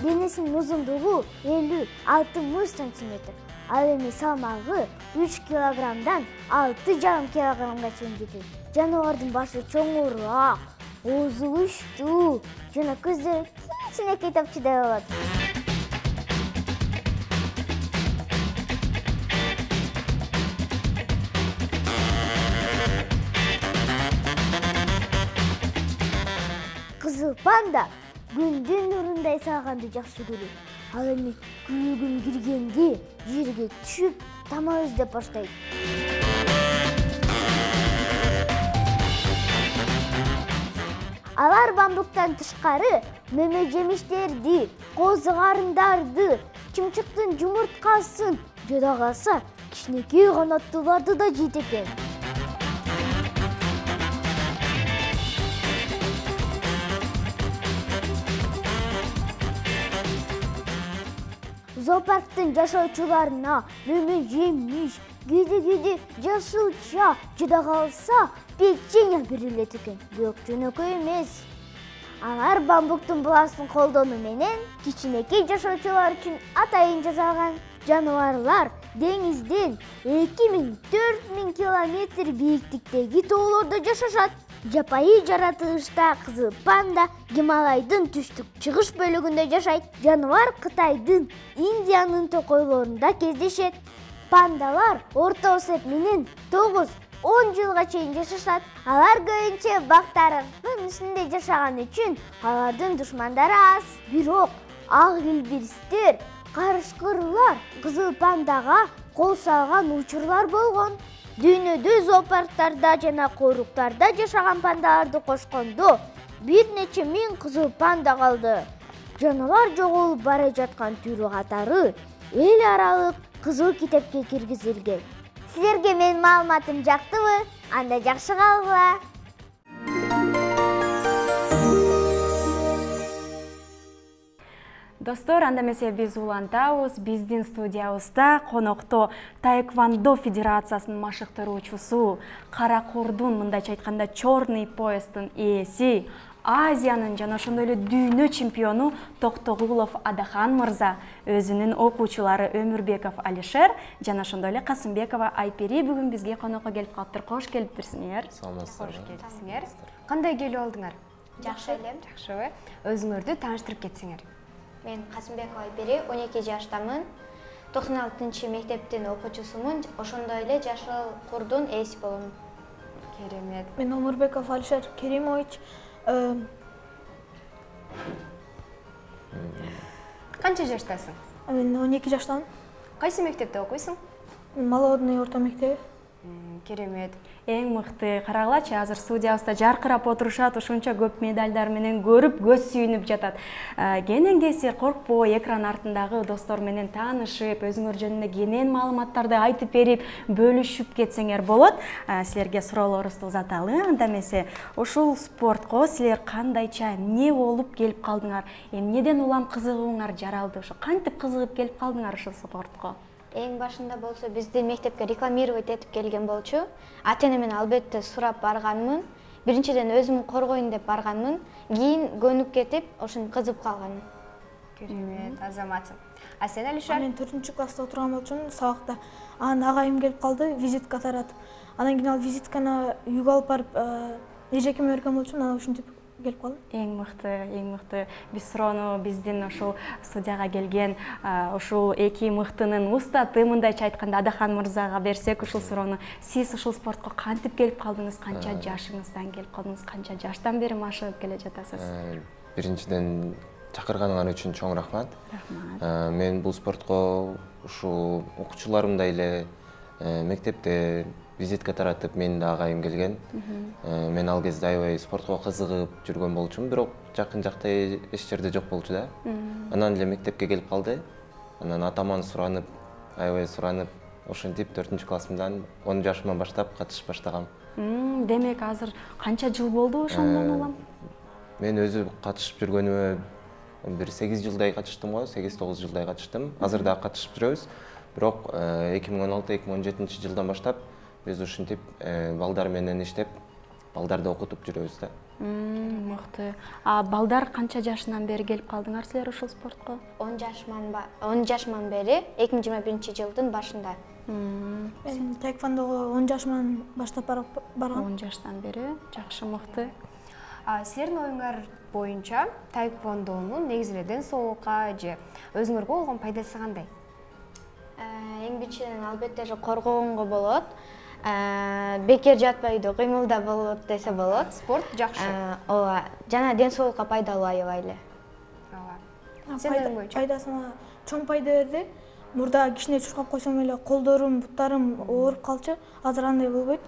Денесинин узундугу 50-60 сантиметр. Ал эми салмагы 3 килограммдан 6,5 килограммга чейин жетет. Жаныбардын башы чоңураак, оозу үчтүү жана көздөрү кичинекей топчудай болот. Кызыл панда күндүн нурундай сагынды жакшы көрөт. Ал эми күн киргенде жерге түшүп, тамак издеп баштайт. Алар бамбуктан тышкары мөмө жемиштерди, козу карындарды, чымчыктын жумурткасын, жада калса кичинекей канаттууларды да жейт экен. Зоопарктын жашоочуларына мөмө жемиш, кээде жашылча, жада калса печенье берилет экен. Бирок жөнөкөй эмес. Алар бамбуктун буласын колдонуу менен кичинекей жашоочулар үчүн атайын жасалган. Жаныбарлар деңизден 2000–4000 километр бийиктиктеги тоолордо жашашат. Жапайы жаратылышта кызыл панда Гималайдын түштүк чыгыш бөлүгүндө жашайт. Жаныбар Кытайдын, Индиянын токойлорунда кездешет. Пандалар орто эсеп менен 9–10 жылга чейин жашашат. Алар көбүнчө бактардын үстүндө жашаган үчүн алардын душмандары аз. Бирок ак илбирстер, карышкырлар кызыл пандага кол салган учурлар болгон. Дүйнөдө зоопарктарда жана коруктарда жашаган пандаларды кошкондо бир нече миң кызыл панда калды. Жаныбар жоголуп бара жаткан түрү катары эл аралык кызыл китепке киргизилген. Силерге менин маалыматым жактыбы? Анда жакшы калгыла. Достор, анда эмесе биз улантабыз. Биздин студиябызда конокто Таэквондо Федерациясынын машыктыруучусу, Кара Курдун, мындайча айтканда Черный поястын ээси, Азиянын жана ошондой эле дүйнө чемпиону Токтогулов Адахан мырза, өзүнүн окуучулары Өмүрбеков Алишер жана ошондой эле Касымбекова Айпери бүгүн бизге конокко келип калыптыр. Кош келипсиңер. Кош келипсиңер. Кандай келип алдыңар? Жакшы эле. Жакшыбы? Өзүңөрдү тааныштырып кетсеңер. Мен Касымбекова Айпери, 12 жаштамын. 96 мектептин окуучусумун. Ошондой эле Жашыл Курдун ээси болом. Керемет. Мен Өмүрбеков Алишер Керимович. Канча жаштасың? Мен 12 жаштамын. Кайсы мектепте окуйсуң? Молодный орто мектеби. Керемет. Эң мыкты. Карагылачы, азыр студиябызда жаркырап отурушат, ушунча көп медальдар менен көрүп, көз сүйүнүп жатат. Кенен силер коркпой, экран артындагы достор менен таанышып, өзүңөр жөнүндө кенен маалыматтарды айтып берип, бөлүшүп кетсеңер болот. Силерге суроолорубузду узаталы. Анда эмесе, ушул спортко силер кандайча, эмне болуп келип калдыңар? Эмнеден улам кызыгууңар жаралды? Ошо кантип кызыгып келип калдыңар ушул спортко? Эң башында болсо бизди мектепке рекламировать этип келген болчу. Ата-энемден албетте сурап барганмын. Биринчиден өзүм коргоюн деп барганмын. Кийин көнүп кетип, ошентип кызыгып калганмын. Керемет, азаматсың. А сен, Алишер? Мен 4-класста отурган болчумун, сабакта. Анан агайым келип калды, визитка таратып. Анан кийин ал визитканы үйгө алып барып, эжекеме берген болчумун, анан ушинтип келип калдым. Эң мыкты. Биз суроону биздин ушул студияга келген ушул эки мыктынын устаты, мындайча айтканда Адахан мырзага берсек, ушул суроону сиз ушул спортко кантип келип калдыңыз? Канча жашыңыздан келип калдыңыз? Канча жаштан бери машыгып келе жатасыз? Биринчиден чакырганыңар үчүн чоң рахмат. Мен бул спортко ушул окуучуларымдай эле мектепте визитка таратып, менин да агайым келген. Мен ал кезде аябай спортко кызыгып жүргөн болчумун, бирок жакын жакта эч жерде жок болчу да. Анан эле мектепке келип калды. Анан атаман суранып, аябай суранып, ошентип 4-классымдан 10 жашымдан баштап катышып баштагам. Демек, азыр канча жыл болду ошондон улам? Мен өзү катышып жүргөнүмө бир 8 жылдай катыштым го, 8-9 жылдай катыштым. Азыр да катышып жүрөбүз. Бирок 2016-2017 жылдан баштап биз ушинтип балдар менен иштеп, балдарды окутуп жүрөбүз да. Мыкты. А балдар канча жашынан бери келип калдыңар силер ушул спортко? 10 жашыман бери, 2021 жылдын башында. Мен таэквондого 10 жашыман баштап баргам. 10 жаштан бери, жакшы, мыкты. Силердин оюңар боюнча таэквондонун негизи эле ден соолукка же өзүңөргө болгон пайдасы кандай? Эң биринчиден албетте коргогонго болот. Бекер жатпай үйдө кыймылда болот десе болот. Спорт жакшы. Ооба, жана ден соолукка пайдалуу аябай эле. Ооба. Пайдасына чоң пайда берди. Мурда кичине чуркап койсом эле колдорум, буттарым ооруп калчу. Азыр андай болбойт.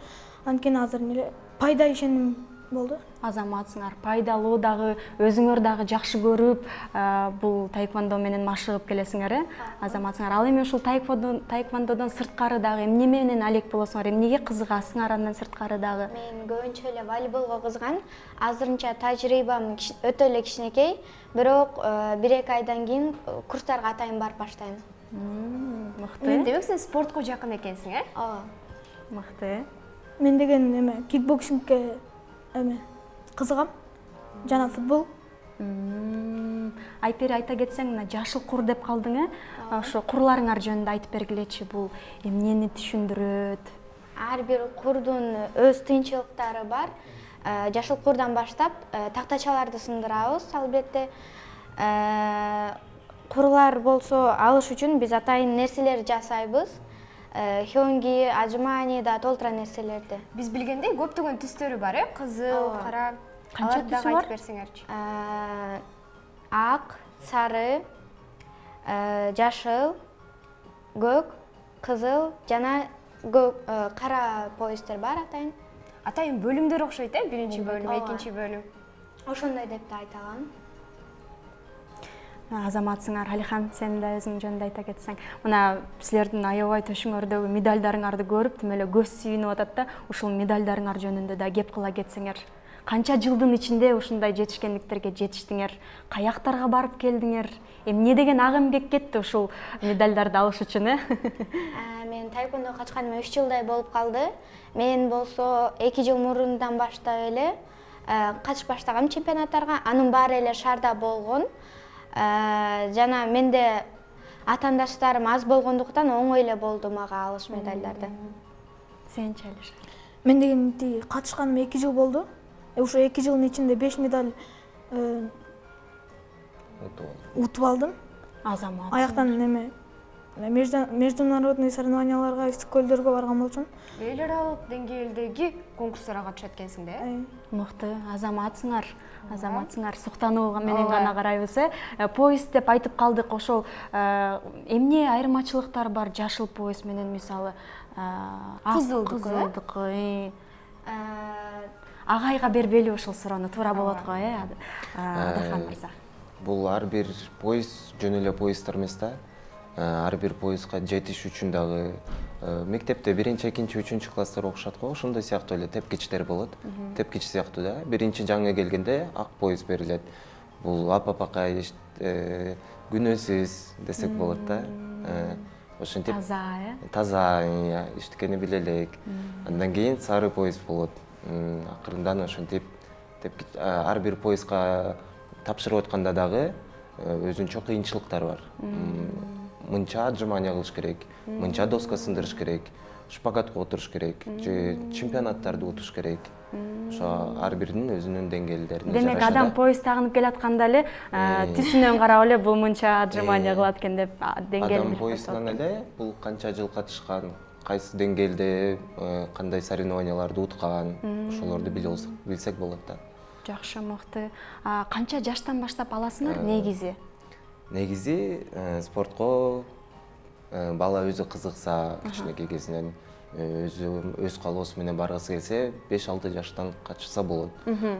Анткени азыр эле пайда ишеним болду. Азаматсыңар, пайдалуу дагы, өзүңөр дагы жакшы көрүп, бул таэквондо менен машыгып келесиңер, азаматсыңар. Ал эми ушул таэквондодон сырткары дагы эмне менен алек болосуңар, эмнеге кызыгасыңар андан сырткары дагы? Мен көбүнчө эле волейболго кызыгам. Азырынча тажрыйбам өтө эле кичинекей, бирок 1-2 айдан кийин курстарга атайын барып баштайм. Мыкты. Демек сен спортко жакын экенсиң, Ооба. Мыкты. Мен деген кикбоксингке кызыгам, жана футбол. Айпери, айта кетсең, мына жашыл кур деп калдың, ошо курларыңар жөнүндө айтып бергилечи, бул эмнени түшүндүрөт? Ар бир курдун өз тыйынчылыктары бар. Жашыл курдан баштап тактачаларды сындырабыз, албетте. Курлар болсо, алыш үчүн биз атайын нерселер жасайбыз. Хёнги, ажмани да толтура нерселерди. Биз билгендей көптөгөн түстөрү бар, кызыл, кара. Канча түсү бар? Айтып берсеңерчи. Ак, сары, жашыл, көк, кызыл жана кара поястар бар атайын. Атайын бөлүмдөр окшойт, биринчи бөлүм, экинчи бөлүм. Ошондой деп да айта алам. Азаматсыңар, Алихан, сен да өзүң жөнүндө айта кетсең. Мына силердин аябай төшүңөрдөгү медальдарыңарды көрүп, тим эле көз сүйүнүп атат да, ушул медальдарыңар жөнүндө да кеп кыла кетсеңер. канча жылдын ичинде ушундай жетишкендиктерге жетиштиңер? Каяктарга барып келдиңер? Эмне деген ак эмгек кетти ушул медалдарды алыш үчүн, Мен таэквондо качканыма 3 жылдай болуп калды. Мен болсо 2 жыл мурундан баштап эле катышып баштагам чемпионаттарга. Анын баары эле шаарда болгон. Жана менде атаандаштарым аз болгондуктан оңой эле болду мага алыш медалдарды. Сенчи Алишер? Мен дегенди катышканыма 2 жыл болду. Ошо 2 жылдын ичинде 5 медаль утуп алдым. Азамат. Аяктан неме международный соревнованияларга, көлдөргө барган болчумун. Эл аралык деңгээлдеги конкурстарга катышат экенсиң да? Мыкты, азаматсыңар. Суктануу менен гана карайбыз, Поезд деп айтып калдык, ошол эмне айырмачылыктар бар жашыл поезд менен, мисалы кызылдыкы? Агайга бербели ушул суроону, туура болот го, Адахан мырза? Бул ар бир поезд жөн эле поезддер эмес да. Ар бир поездга жетиш үчүн дагы мектепте 1-2, 3 класстар окушат го, ошондой сыяктуу эле тепкичтер болот. Тепкич сыяктуу да. Биринчи жаңы келгенде ак поезд берилет. Бул апапакай күнөөсүз десек болот да. Ошентип таза иштикени биле элек. Андан кийин сары поезд болот. Акырындан ошентип ар бир поездга тапшырып атканда дагы өзүнчө кыйынчылыктар бар. Мынча отжимания кылыш керек, мынча доска сындырыш керек, шпагатка отуруш керек, же чемпионаттарды утуш керек. Ошо ар биринин өзүнүн деңгээлдерине жараша. Демек, адам поезд тагынып келатканда эле түсүнөн карап эле бул мынча отжимания кылат экен деп деңгээлин адам поезддан эле бул канча жыл катышкан, кайсы деңгээлде кандай соревнованияларды уткан, ошолорду билсек болот да. Жакшы, мыкты. Канча жаштан баштап аласыңар негизи? Негизи спортко бала өзү кызыкса, кичинекей кезинен өз каалоосу менен баргысы келсе 5-6 жаштан катышса болот.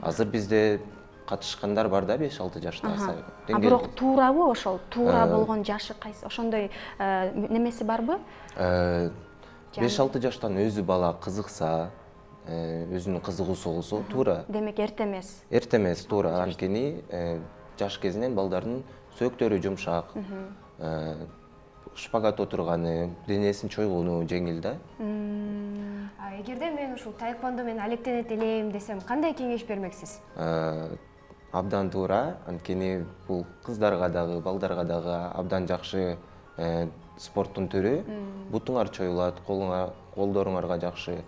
Азыр бизде катышкандар бар да 5-6 жашта. Бирок туурабы ошол? Туура болгон жашы кайсы? Ошондой немеси барбы? 5-6 жаштан өзү бала кызыкса, өзүнүн кызыгуусу болсо туура. Демек эрте эмес. Эрте эмес, туура. Анткени жаш кезинен балдардын сөктөрү жумшак, шпагат отурганы, денесин чойгону жеңил да. Эгерде мен ушул таэквондо менен алектенет элем десем, кандай кеңеш бермексиз? Абдан туура, анткени бул кыздарга дагы, балдарга дагы абдан жакшы спорттун түрү. Бутуңар чоюлат, колдоруңарга жакшы,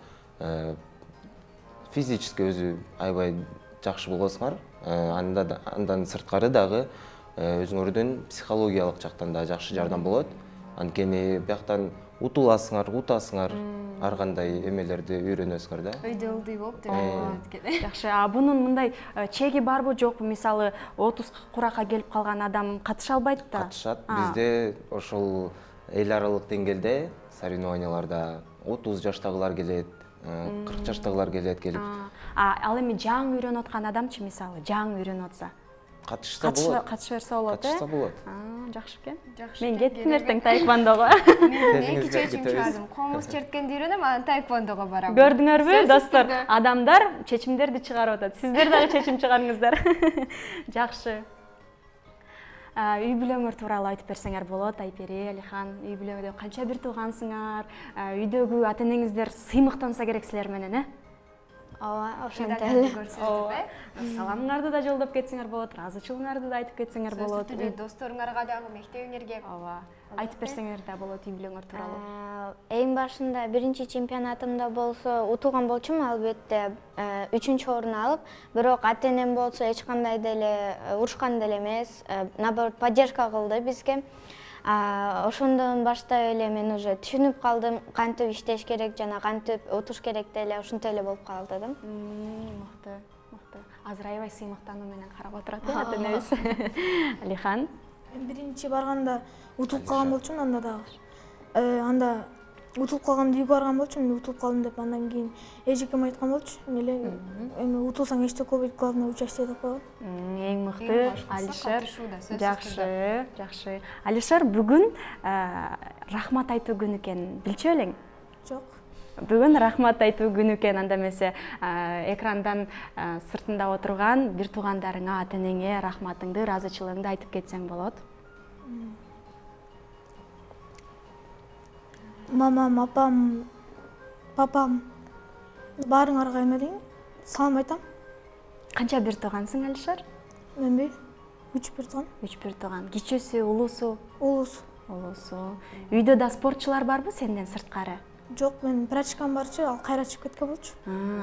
физически өзү аябай жакшы болосуңар. Андан сырткары дагы өзүңөрдүн психологиялык жактан да жакшы жардам болот. Анткени бияктан утуласыңар, утасыңар, ар кандай эмелерди үйрөнөсүңөр да. Өйдө ылдый болуп деп. Жакшы, бунун мындай чеги барбы жокпу? Мисалы 30 куракка келип калган адам катыша албайт да? Катышат. Бизде ошол эл аралык деңгээлде соревнованияларда 30 жаштагылар келет, 40 жаштагылар келет келип. Ал эми жаңы үйрөнүп аткан адамчы, мисалы, жаңы үйрөнүп атса? Катышса болот. Катыша берсе болот, Катышса болот. Жакшы экен. Мен кеттим эртең таэквондого. Мен чечим чыгардым. Комуз черткенди үйрөнөм, анан таэквондого барам. Көрдүңөрбү, достор? Адамдар чечимдерди чыгарып атат. Сиздер дагы чечим чыгарыңыздар. Жакшы. Үй бүлөңөр тууралуу айтып берсеңер болот, Айпери, Алихан. Үй бүлөңөрдө канча бир туугансыңар? Үйдөгү ата-энеңиздер сыймыктанса керек силер менен, Ооба, ошентип. Саламыңарды да жолдоп кетсеңер болот, ыраазычылыгыңарды да айтып кетсеңер болот. Досторуңарга дагы, мектебиңерге. Ооба. Айтып берсеңер да болот үй бүлөңөр тууралуу. Эң башында биринчи чемпионатымда болсо утулган болчумун, албетте 3-чү орун алып, бирок ата-энем болсо эч кандай деле урушкан деле эмес, наоборот поддержка кылды бизге. Ошондон баштап эле мен уже түшүнүп калдым, кантип иштеш керек жана кантип утуш керек деле ошентип эле болуп калды да. Мыкты, мыкты. Азыр аябай сыймыктануу менен карап отурат ата-энебиз. Алихан? Мен биринчи барганда утулуп калган болчумун, анда дагы. Анда утулуп калганда үйгө барган болчумун, утулуп калдым деп, андан кийин эжекем айткан болчу, эле эми утулсаң эчтеке болбойт, главное участие деп койгон. Эң мыкты, Алишер. Жакшы, жакшы. Алишер, бүгүн рахмат айтуу күнү экен, билчү элең? Жок. Бүгүн рахмат айтуу күнү экен, анда эмесе экрандан сыртында отурган бир туугандарыңа, ата энеңе рахматыңды, ыраазычылыгыңды айтып кетсең болот. Мамам, апам, папам баарыңарга эмелейм, салам айтам. Канча бир туугансың, Алишер? Мен 3 бир тууган. 3 бир тууган. Кичүүсү, улуусу? Улуусу. Үйдө да спортчулар барбы сенден сырткары? Жок, мен прачкам барчу, ал кайра чыгып кеткен болчу.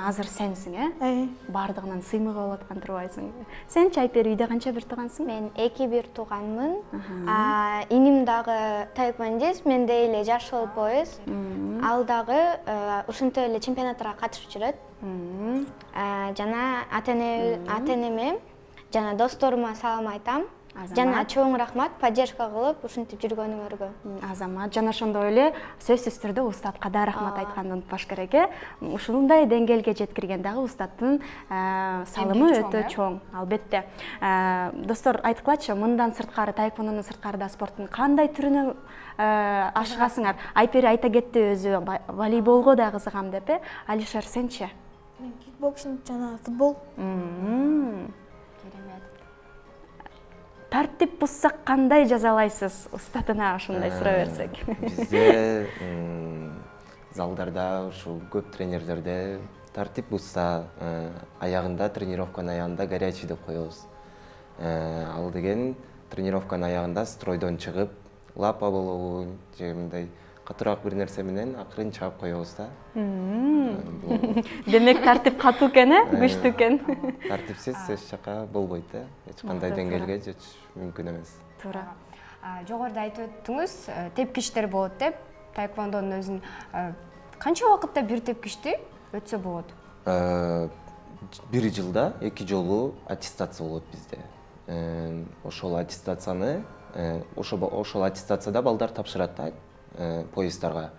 Азыр сенсиң, Бардыгынан сыймык болуп аткан турбайсың. Сенчи Айпери, үйдө канча бир туугансың? Мен 2 бир тууганмын. Иним дагы таэквондист, мен эле жаш болбойбуз. Ал дагы ушинтип эле чемпионаттарга катышып жүрөт. Жана ата энеме, жана досторума салам айтам. Жана чоң рахмат поддержка кылып ушинтип жүргөнүңөргө. Азамат, жана ошондой эле сөзсүз түрдө устатка да рахмат айтканды унутпаш керек. Ушундай деңгээлге жеткирген дагы устаттын салымы өтө чоң, албетте. Достор, айткылачы, мындан сырткары, таэквондонун сырткары да спорттун кандай түрүнө ашыгасыңар? Айпери айта кетти өзү волейболго да кызыгам деп. Алишер, сенчи? Мен кикбоксинг жана футбол. Тартип бузсак кандай жазалайсыз? Устатына ошондой суроо берсек. Бизде залдарда ушу көп тренерлерде тартип бузса, аягында, тренировканын аягында горячий деп коебуз. Ал деген тренировканын аягында стройдон чыгып, лапа болобу, же мындай катуураак бир нерсе менен акырын чаап коебуз да. Демек тартип катуу экен, күчтүү экен. Тартипсиз эч жака болбойт, эч кандай деңгээлге жетиш мүмкүн эмес. Туура. Жогоруда айтып өттүңүз, тепкичтер болот деп, таэквондонун өзүн канча убакытта бир тепкичти өтсө болот? Бир жылда 2 жолу аттестация болот бизде. Ошол аттестацияны, ошол аттестацияда балдар тапшырат да, поезддарга.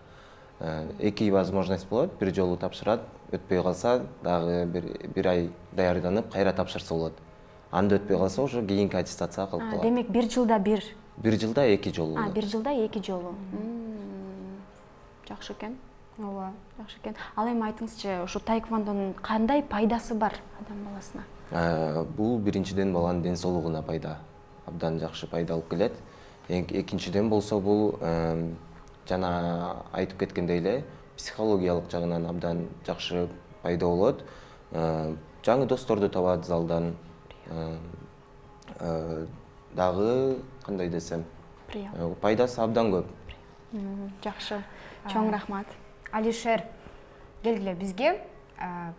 2 возможность болот, бир жолу тапшырат, өтпөй калса дагы бир ай даярданып кайра тапшырса болот. Анда өтпөй калса уже кийинки аттестацияга калып калат. Демек бир жылда бир? Бир жылда 2 жолу болот. Бир жылда 2 жолу. Жакшы экен. Ооба, жакшы экен. Ал эми айтыңызчы, ушу таэквондонун кандай пайдасы бар адам баласына? Бул биринчиден баланын ден соолугуна пайда. Абдан жакшы пайда алып келет. Экинчиден болсо бул жана айтып кеткендей эле психологиялык жагынан абдан жакшы пайда болот. Жаңы досторду табат залдан. Дагы кандай десем, пайдасы абдан көп. Жакшы. Чоң рахмат. Алишер, келгиле бизге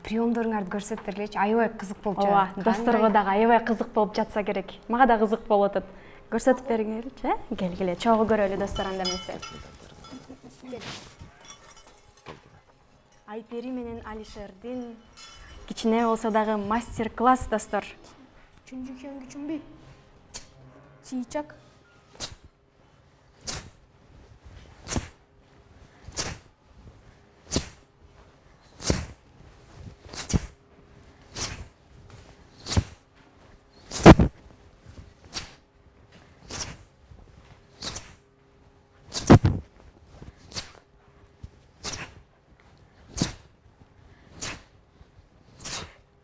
приемдоруңарды көрсөтүп бергилечи. Аябай кызык болуп жатат. Ооба, досторго дагы аябай кызык болуп жатса керек. Мага да кызык болуп атат. Көрсөтүп бериңерчи, келгиле. Чогуу көрөлү достор, анда эмесе. Айпери менен Алишердин кичине болсо дагы мастер-класс, достор. Чүнбү? Чыйчак.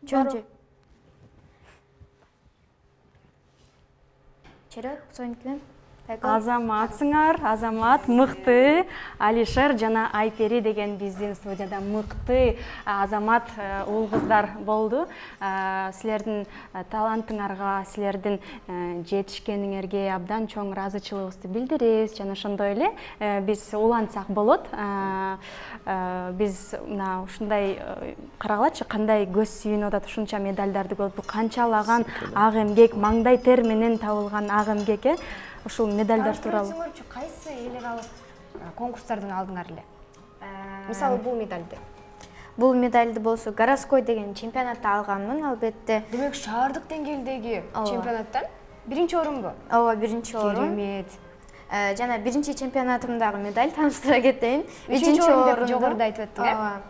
Чөнчү. Чирек, соникиден. Азаматсыңар, Азамат мыкты. Алишер жана Айпери деген биздин студияда мыкты Азамат уул кыздар болду. Силердин талантыңарга, силердин жетишкениңерге абдан чоң ыраазычылыгыбызды билдиребиз. Жана ошондой эле биз улантсак болот. Биз мына ушундай карагылачы, кандай көз сүйүнүп атат, ушунча медалдарды көрүп, канчалаган ак эмгек, маңдай тер менен табылган ак эмгек. Ушул медалдар тууралуу. Кайсы эл аралык конкурстардан алдыңар эле? Мисалы бул медалды. Бул медалды болсо городской деген чемпионатта алганмын, албетте. Демек шаардык деңгээлдеги чемпионаттан биринчи орунбу? Ооба, биринчи орун. Керемет. Жана биринчи чемпионатымдагы медаль тааныштыра кетейин. Үчүнчү орун жогоруда айтып өттүң, ооба.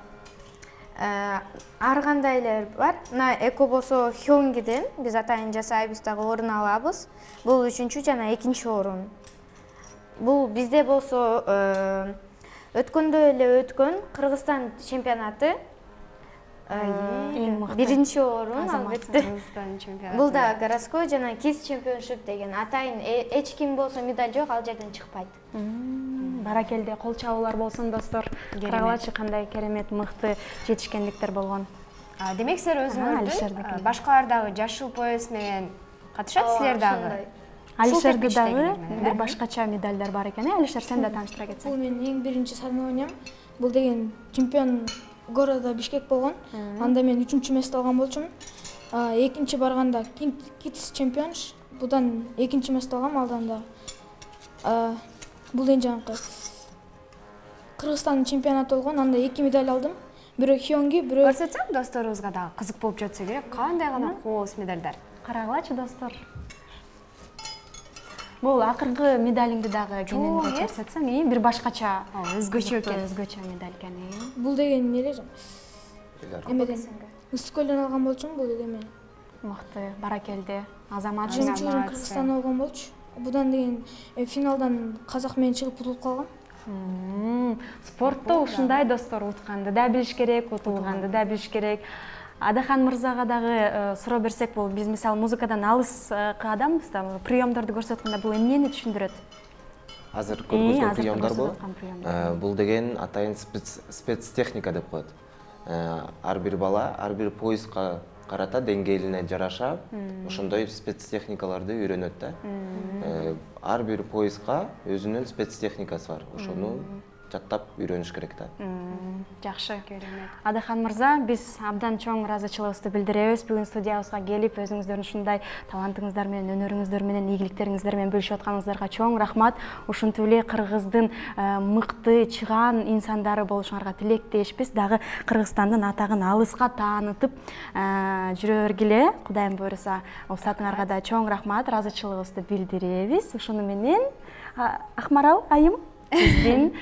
Ар кандайлар бар. Мына эко болсо Хёнгиден биз атайын жасайбыз, дагы орун алабыз. Бул үчүнчү жана экинчи орун. Бул бизде болсо өткөндө эле өткөн Кыргызстан чемпионаты биринчи орун албетте. Бул да городской жана KISS чемпионшип деген атайын эч ким болсо медаль жок, ал жерден чыкпайт. Баракелде, кол чабуулар болсун достор. Карагылачы кандай керемет мыкты жетишкендиктер болгон. Демек силер өзүңөрдү башкалардагы жашыл пояс менен катышасыздар дагы. Алишерде дагы бир башкача медальдар бар экен. Алишер, сен да тааныштыра кетсең. Бул менин эң биринчи соревнованиям. Бул деген чемпион города Бишкек болгон. Анда мен 3-чү место алган болчумун. Экинчи барганда KISS чемпион, будан экинчи место алгам алдан да. Бул эң жанакы Кыргызстандын чемпионаты болгон. Анда 2 медаль алдым. Бирөө Хёнги, бирөө көрсөтсөм досторубузга дагы кызык болуп жатса керек. Кандай гана кооз медальдар. Карагылачы достор. Бул акыркы медалиңди дагы кененирээк көрсөтсөң, бир башкача, өзгөчө экен. Өзгөчө медаль экен. Бул деген эле эмеден Үскөлдөн алган болчумун, бул эме. Мыкты, баракелде. Азамат Кыргызстан алган болчу. Будан деген финалдан казак менен чыгып утулуп калгам. Спортто ушундай достор, утканды да билиш керек, утулганды да билиш керек. Адахан мырзага дагы суроо берсек болот. Биз мисалы музыкадан алыскы адамбыз да, приемдорду көрсөткөндө бул эмнени түшүндүрөт? Азыр көргөзгөн приемдорбу? Бул деген атайын спецтехника деп коет. Ар бир бала, ар бир поездга карата деңгээлине жараша ошондой спецтехникаларды үйрөнөт да. Ар бир поездга өзүнүн спецтехникасы бар. Ошону жаттап үйрөнүш керек да. Жакшы. Адахан мырза, биз абдан чоң ыраазычылыгыбызды билдиребиз. Бүгүн студиябызга келип, өзүңүздөрдүн ушундай талантыңыздар менен, өнөрүңүздөр менен, ийгиликтериңиздер менен бөлүшүп атканыңыздарга чоң рахмат. Ушинтип эле Кыргыздын мыкты, чыгаан инсандары болушуңарга тилектешпиз. Дагы Кыргызстандын атагын алыска таанытып жүрө бергиле. Кудайым буйруса, устатыңарга да чоң рахмат, ыраазычылыгыбызды билдиребиз. Ушуну менен Акмарал айым биздин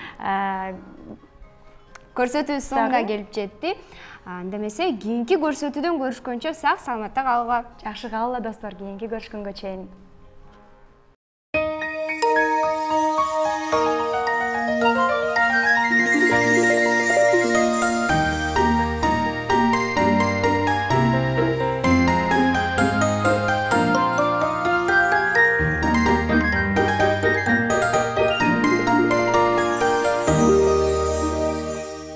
көрсөтүүбүз соңуна келип жетти. Анда эмесе кийинки көрсөтүүдөн көрүшкөнчө сак саламатта калгыла. Жакшы калгыла достор, кийинки көрүшкөнгө чейин.